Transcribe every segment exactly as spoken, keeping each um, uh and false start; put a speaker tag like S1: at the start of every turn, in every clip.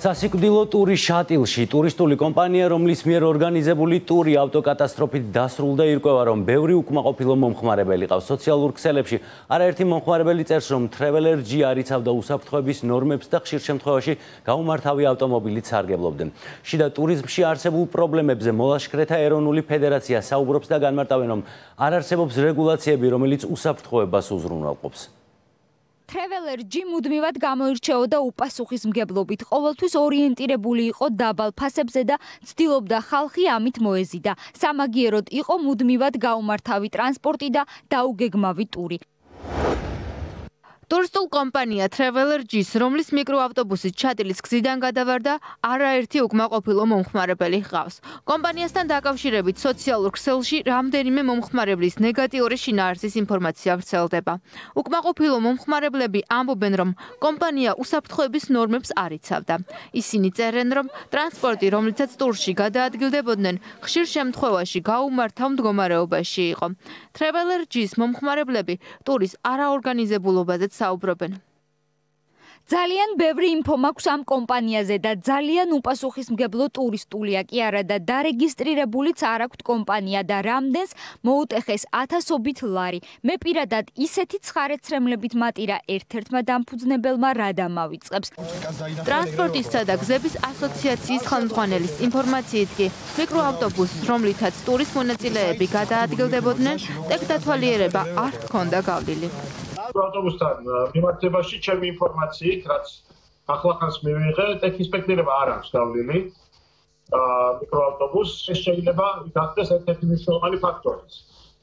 S1: სასიკვდილო ტური შატილში ტურისტული კომპანია, რომლის მიერ ორგანიზებული ტური ავტოკატასტროფით დასრულდა, ირკვევა, რომ ბევრი უკმაყოფილო მომხმარებელი ყავს. სოციალურ ქსელებში არაერთი მომხმარებელი წერს, რომ Traveler G არ იცავდა უსაფრთხოების ნორმებს და ხშირ შემთხვევაში გაუმართავი ავტომობილით სარგებლობდნენ. შიდა ტურიზმში არსებულ პრობლემებზე მოლაშქრეთა ეროვნული ფედერაცია საუბრობს და განმარტავენ, რომ არ არსებობს რეგულაციები, რომელიც უსაფრთხოებას უზრუნველყოფს.
S2: Traveler G მუდმივად გამოირჩეოდა უპასუხისმგებლობით, ყოველთვის ორიენტირებული იყო დაბალ ფასებზე და ცდილობდა ხალხი ამით მოეზიდა. სამაგიეროდ იყო მუდმივად გაუმართავი ტრანსპორტი და დაუგეგმავი ტური. Ტურისტულ კომპანია Traveler G-ს, რომლის მიკროავტობუსით ჩატილის გზიდან გადავარდა, არაერთი უკმაყოფილო მომხმარებელი ჰყავს. კომპანიასთან დაკავშირებით სოციალურ ქსელში რამდენიმე მომხმარებლის ნეგატიური შინაარსის ინფორმაცია ვრცელდება. უკმაყოფილო მომხმარებლები ამბობენ, რომ კომპანია უსაფრთხოების ნორმებს არ იცავდა. ისინი წერენ, რომ ტრანსპორტი, რომლითაც ტურში გადაადგილდებოდნენ, ხშირ შემთხვევაში გაუმართავ მდგომარეობაში იყო. Traveler G-ს მომხმარებლები ტურის არაორგანიზებულობაზე საუბრობენ. ძალიან ბევრი ინფო მაქვს ამ კომპანიაზე და ძალიან უპასუხისმგებლო ტურისტულია კი არა და დარეგისტრირებულიც არ აქვთ კომპანია და რამდენს მოუტეხეს ათასობით ლარი. მე პირადად ისეთი ცხარეცრემლებით მატირა ერთ-ერთმა დამფუძნებელმა რა დამავიწყებს. ტრანსპორტისა და გზების ასოციაციის ხელმძღვანელის ინფორმაციით კი მიკროავტობუსს, რომლითაც ტურის მონაწილეები გადაადგილდებოდნენ, ტექდათვალიერება არ ჰქონდა გავლილი.
S3: ავტობუსთან მიმართებაში ჩემი ინფორმაციით, რაც ახლახანს მივიღე, ტექინსპექტირება არ აქვს გავლილი მიკროავტობუსს. ეს შეიძლება გახდეს ერთ-ერთი მნიშვნელოვანი ფაქტორიც,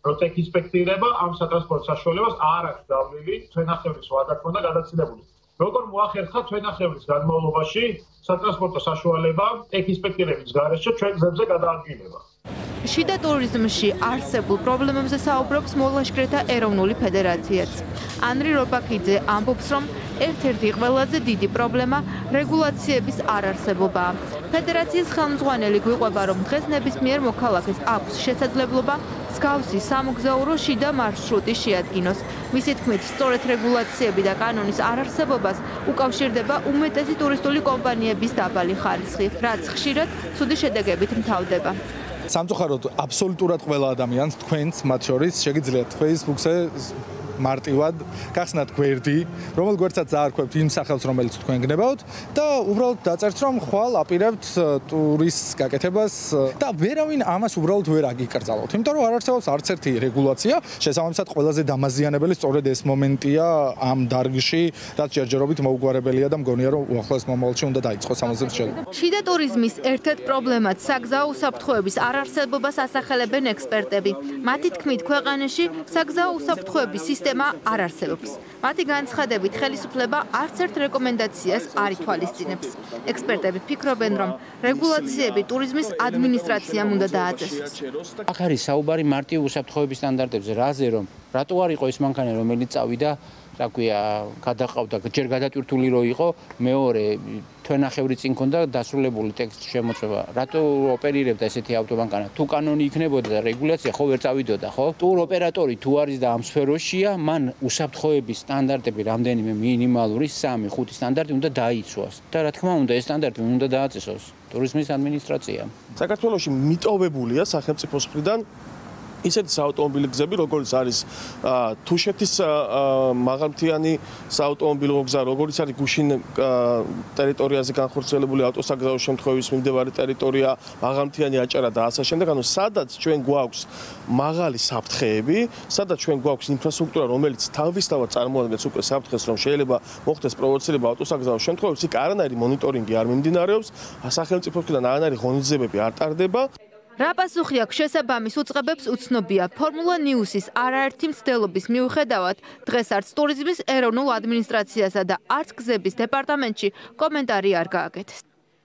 S3: რომ ტექინსპექტირება ამ სატრანსპორტო საშუალებას არ აქვს გავლილი თვენახევრის ვადა ქონდა გადაცილებული. როგორ მოახერხა თვენახევრის განმავლობაში სატრანსპორტო საშუალება ტექინსპექტირების გარეშე ჩვენ გზებზე გადაადგილება. შიდა ტურიზმში არსებულ პრობლემებზე საუბრობს მოლაშქრეთა ეროვნული ფედერაციაც. ანრი რობაქიძე ამბობს, რომ ერთ-ერთი ყველაზე დიდი პრობლემა რეგულაციების არარსებობაა. ფედერაციის ხელმძღვანელი გვიყვება, რომ დღეს ნებისმიერ მოქალაქეს აქვს შესაძლებლობა მსგავსი სამოგზაურო შიდა მარშრუტი შეადგინოს. მისი თქმით, სწორედ რეგულაციები და კანონის არარსებობას უკავშირდება უმეტესი ტურისტული კომპანიების დაბალი ხარისხი, რაც ხშირად ცუდი შედეგებით მთავრდება.
S4: სამწუხაროდ აბსოლუტურად ყველა ადამიანს, თქვენც მათ შორის, შეგიძლიათ Facebook-ზე მარტივად გახსნათ გვერდი, რომელ გვერდსაც დაარქვევთ იმ სახელს, რომელიც თქვენ გნებავთ და უბრალოდ დაწერთ, რომ ხვალ აპირებთ ტურის გაკეთებას და ვერავინ ამას უბრალოდ ვერ აგიკრძალოთ. იმიტომ რომ არ არსებობს არც ერთი რეგულაცია, შესაბამისად ყველაზე დამაზიანებელი სწორედ ეს მომენტია ამ დარგში, რაც ჯერჯერობით მოუგვარებელია და მგონია, რომ უახლოეს მომავალში უნდა დაიწყოს ამაზე მრჩეველი.
S2: შიდა ტურიზმის ერთ-ერთ პრობლემად საგზაო უსაფრთხოების არარსებობას ასახელებენ ექსპერტები. მათი თქმით, ქვეყანაში საგზაო უსაფრთხოების სისტემა არ არსებობს. მათი განცხადებით, ხელისუფლება არც ერთ რეკომენდაციას არ ითვალისწინებს. ექსპერტები ფიქრობენ, რომ რეგულაციები ტურიზმის ადმინისტრაციამ უნდა დააწესოს.
S5: აქ არის საუბარი მარტივ უსაფრთხოების სტანდარტებზე, რაზე რომ რატო არ იყო ის მანქანა, რომელიც წავიდა, რა ქვია, გადაყავდა, ჯერ გადატვირთული რო იყო, მეორე თვენახევრი წინ ქონდა დასრულებული ტექსტ შემოწმება. რატო ოპერირებდა ესეთი ავტომანქანა? თუ კანონი იქნებოდა და რეგულაცია ხო ვერ წავიდოდა, ხო? ტურ ოპერატორი თუ არის და ამ სფეროშია, მან უსაფრთხოების სტანდარტები რამდენიმე მინიმალური სამი ხუთი სტანდარტი უნდა დაიცვას. და რა თქმა უნდა, ეს სტანდარტი უნდა დააწესოს ტურიზმის ადმინისტრაციამ.
S6: საქართველოში მიტოვებულია სახელმწიფოს მხრიდან ისეთი საავტომობილო გზები, როგორც არის თუშეთის მაღალმთიანი საავტომობილო გზა, როგორც არის გუშინ ტერიტორიაზე განხორციელებული ავტოსაგზაო შემთხვევების მიმდებარე ტერიტორია, მაღალმთიანი აჭარა და ასე შემდეგ. ანუ სადაც ჩვენ გვაქვს მაღალი საფრთხეები, სადაც ჩვენ გვაქვს ინფრასტრუქტურა, რომელიც თავისთავად წარმოადგენს უკვე საფრთხეს, რომ შეიძლება მოხდეს პროვოცირება ავტოსაგზაო შემთხვევებში, იქ არანაირი მონიტორინგი არ მიმდინარეობს, სახელმწიფოსგან არანაირი ღონისძიებები არ ტარდება.
S2: რა პასუხი აქვს შესაბამის უწყებებს უცნობია. Formula News-ის არაერთი მცდელობის მიუხედავად, დღეს არც ტურიზმის ეროვნულ ადმინისტრაციასა და არც გზების დეპარტამენტში კომენტარი არ გააკეთეს.